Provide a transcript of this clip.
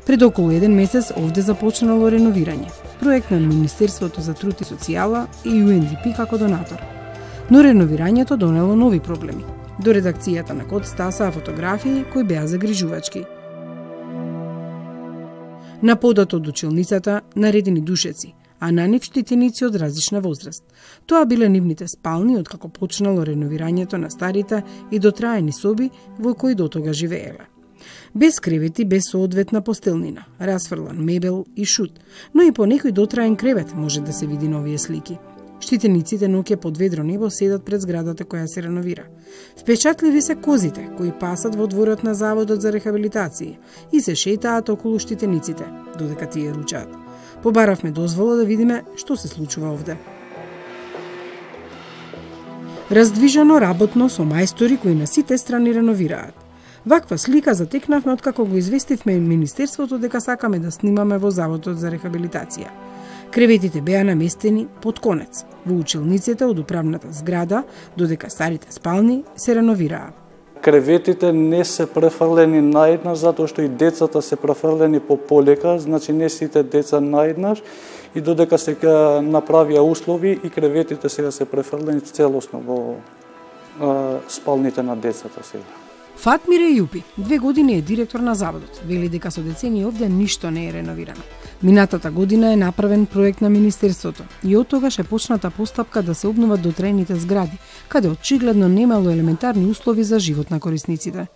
Пред околу 1 месец овде започнало реновирање. Проект на Министерството за труд и социјала и UNDP како донатор. Но реновирањето донело нови проблеми. До редакцијата на код стасаа фотографии кои беа загрижувачки. На подот од училницата наредени душеци, а на нив штитеници од различна возраст. Тоа биле нивните спални откако почнало реновирањето на старите и дотраени соби во кои дотога живееле. Без кревети, без соодветна постелнина, расфрлан мебел и шут, но и по некој дотраен кревет може да се види на овие слики. Штитениците ноќе под ведро небо седат пред зградата која се реновира. Впечатливи се козите кои пасат во дворот на Заводот за рехабилитација и се шетаат околу штитениците, додека тие ручаат. Побаравме дозвола да видиме што се случува овде. Раздвижено работно со мајстори кои на сите страни реновираат. Ваква слика затекнавме откако го известивме Министерството дека сакаме да снимаме во Заводот за рехабилитација. Креветите беа наместени под конец, во училниците од управната зграда, додека старите спални се реновираа. Креветите не се префрлени наеднаш, затоа што и децата се префрлени по полека, значи не сите деца наеднаш, и додека се направија услови и креветите сега се префрлени целосно во спалните на децата сега. Фатмире Јупи, 2 години е директор на заводот. Вели дека со децени овде ништо не е реновирано. Минатата година е направен проект на Министерството и од тогаш е почната постапка да се обноват дотраените згради, каде очигледно немало елементарни услови за живот на корисниците.